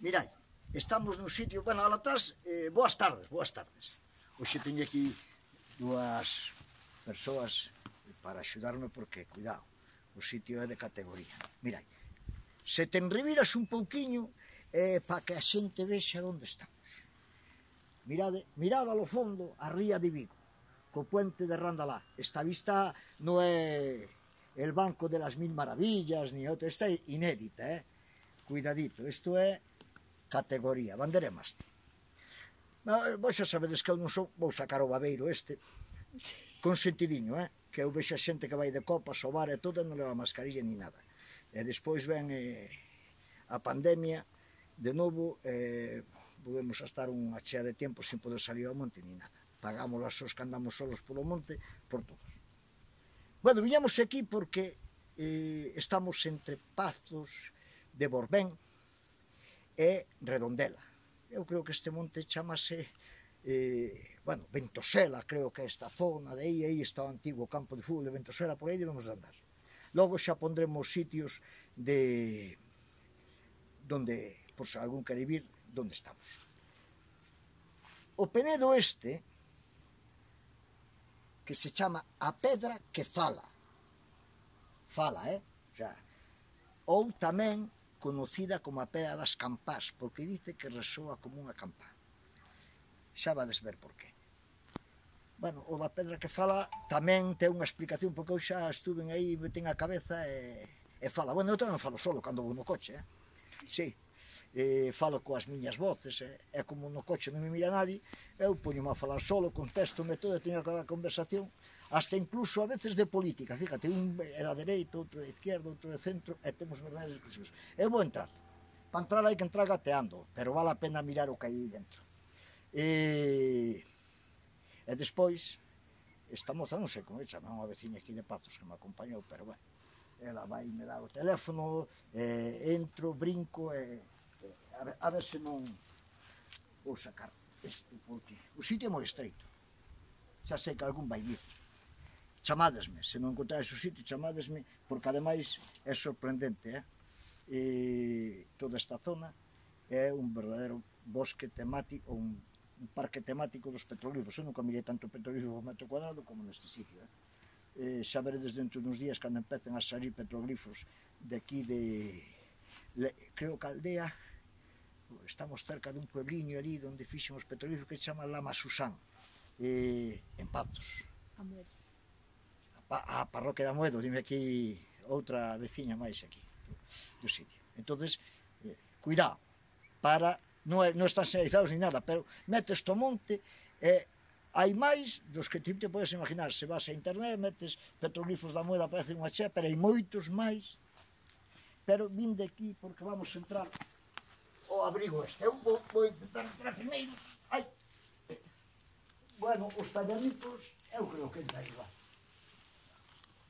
Mirad, estamos nun sitio, bueno, al atrás, boas tardes. Hoxe teño aquí dúas persoas para axudarme porque, cuidado, o sitio é de categoría. Mirad, se te enreviras un pouquiño para que a xente vexa onde estamos. Mirad ao fondo a ría de Vigo, co puente de Randalá. Esta vista non é el Banco de las Mil Maravillas, ni outra, esta é inédita, Cuidadito, isto é categoría, bandera e mástil. Vos xa sabedes que eu non sou, vou sacar o babeiro este, con sentidiño, que eu vexo a xente que vai de copas, ao bar e todo, non leva mascarilla ni nada. E despois ven a pandemia, de novo, volvemos a estar unha chea de tempo sin poder salir ao monte ni nada. Pagamos as sós que andamos solos polo monte, por todos. Bueno, viñamos aquí porque estamos entre Pazos de Borbén e Redondela. Eu creo que este monte chamase, bueno, Ventosela, creo que é esta zona de aí está o antigo campo de fútbol de Ventosela, por aí debemos de andar. Logo xa pondremos sitios de donde, por se algún quere vir, donde estamos. O penedo este, que se chama a pedra que fala, o sea, ou tamén conocida como a pedra das campás, porque dice que resoa como unha campá. Xa vades ver por qué. Bueno, o da pedra que fala tamén ten unha explicación, porque eu xa estuve aí, me ten a cabeza e fala. Bueno, eu tamén falo solo cando vou no coche, Sí, falo coas miñas voces, é como no coche non me mira nadie, eu poño-me a falar solo, contesto-me todo, teño cada conversación, hasta incluso a veces de política, fíjate, un é da dereita, outro da izquierda, outro de centro, e temos verdadeiras discusións. Eu vou entrar, para entrar hai que entrar gateando, pero vale a pena mirar o que hai dentro. E despois, esta moza, non sei como é, chama unha veciña aquí de Pazos que me acompañou, pero bueno, ela vai me dar o teléfono, entro, brinco, a ver se non vou sacar isto, porque o sitio é moi estreito, xa sei que algún vai vir. Chamádesme, se non encontrades o sitio, chamádesme, porque ademais é sorprendente, toda esta zona é un verdadeiro bosque temático, un parque temático dos petroglifos. Eu nunca mirei tanto petroglifo por metro cuadrado como neste sitio. Xa veredes dentro duns días cando empecen a salir petroglifos de aquí de, creo que a aldea, estamos cerca dun puebliño ali onde fixemos petroglifos que se chama Lama Susán, en Pazos. A parroquia de Amoedo, dime aquí outra veciña máis aquí do sitio. Entonces, cuidado, para, non están señalizados ni nada, pero metes to monte, hai máis dos que te podes imaginar. Se vas a internet, metes petroglifos da Amoedo, aparece unha chea, pero hai moitos máis. Pero vim de aquí porque vamos a entrar ao abrigo este. Eu vou intentar entrar primeiro. Bueno, os talladitos, eu creo que entra igual.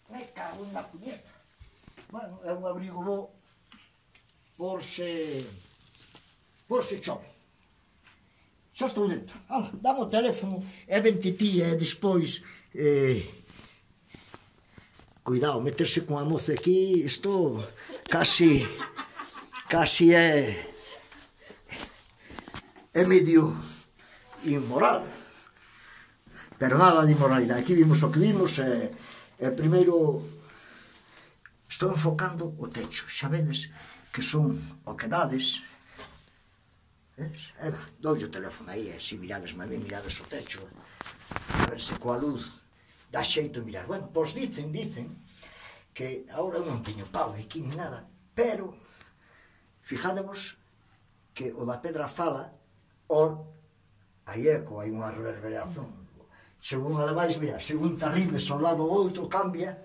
Me cago en la puñeta. Bueno, é un abrigo bo por se chove. Xa estou dentro. Dame o teléfono e vente ti e despois... Cuidado, meterse con a moza aquí, isto casi é medio inmoral. Pero nada de inmoralidade. Aquí vimos o que vimos e primeiro estou enfocando o techo. Xa vedes que son oquedades. Doulle o teléfono aí, se mirades a mí, mirades o techo, a ver se coa luz dá xeito de mirar. Bueno, pois dicen que agora eu non teño pau aquí ni nada, pero fijádevos que o da pedra fala, hai eco, hai unha reverberación. Según ademais, mira, según te arribes ao lado ou outro, cambia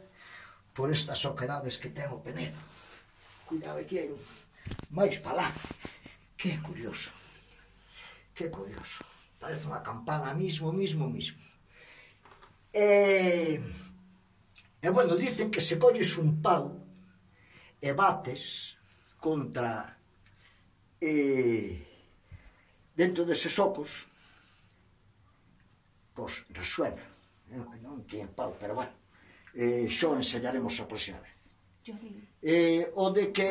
por estas oquedades que ten o penedo. Cuidado, aquí hai máis para lá. Que curioso, parece unha campana mismo. E bueno, dicen que se colles un pau e bates contra dentro deses ocos, pois resuena. Non tiña pau, pero bueno, xo enseñaremos a próxima vez. O de que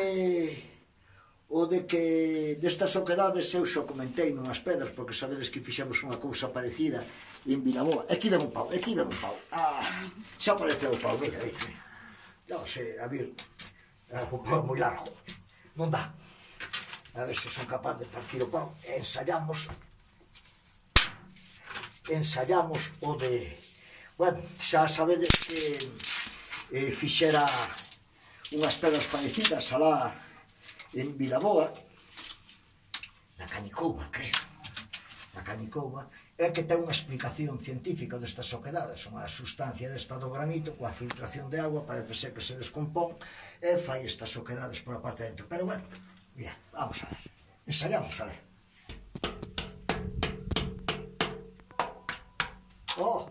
o de que destas oquedades eu xo comentei nunhas pedras, porque sabedes que fixemos unha cousa parecida en Vilaboa. Aquí ven un pau, aquí ven un pau. Xa apareceu o pau, mira, mira. Non sei, a ver, o pau é moi largo. Non dá. A ver se son capaz de partir o pau. Ensayamos o de... Bueno, xa sabedes que fixera unhas pedras parecidas alá en Vilaboa, na Canicouba, creo, na Canicouba, é que ten unha explicación científica destas oquedades, unha sustancia desta do granito, coa filtración de agua, parece ser que se descompón, e fai estas oquedades por a parte de dentro. Pero bueno, mira, vamos a ver, ensayamos a ver. Oh!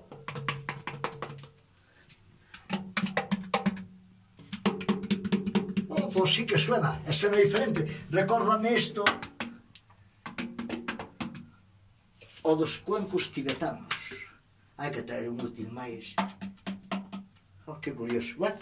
Pois sí que suena, e suena diferente. Recórdame isto o dos cuencos tibetanos. Hai que traer un útil máis. Oh, que curioso. Bueno,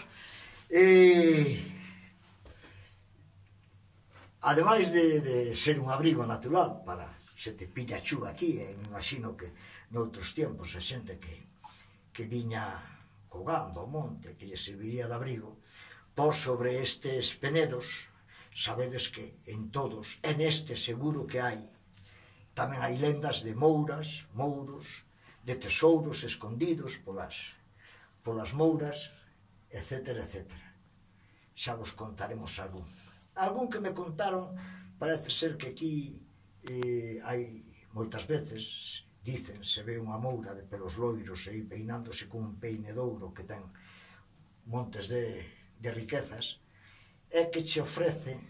ademais de ser un abrigo natural para se te pilla chuva aquí, me imagino que noutros tempos a xente que viña cogando ao monte, que lle serviría de abrigo, por sobre estes penedos, sabedes que en todos, en este seguro que hai, tamén hai lendas de mouras, mouros, de tesouros escondidos polas mouras, etcétera, etcétera. Xa vos contaremos algún. Algún que me contaron, parece ser que aquí hai moitas veces, dicen, se ve unha moura de pelos loiros aí peinándose con un peine de ouro que ten montes de riquezas, é que che ofrece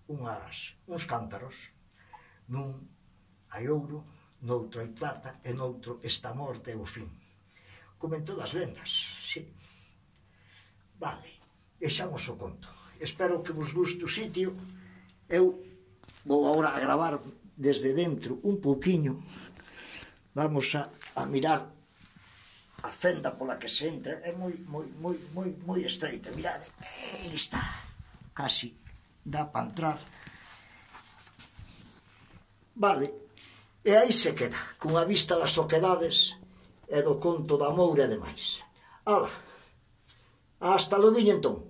uns cántaros. Nun hai ouro, noutro hai plata, e noutro esta morte é o fin. Como en todas as lendas, sí. Vale, deixamos o conto. Espero que vos guste o sitio. Eu vou agora a gravar desde dentro un pouquiño. Vamos a mirar a fenda pola que se entra. É moi estreita, mirade, aí está, casi dá para entrar. Vale, e aí se queda, con a vista das oquedades e do conto da moura e demais. Ala, hasta logo entón.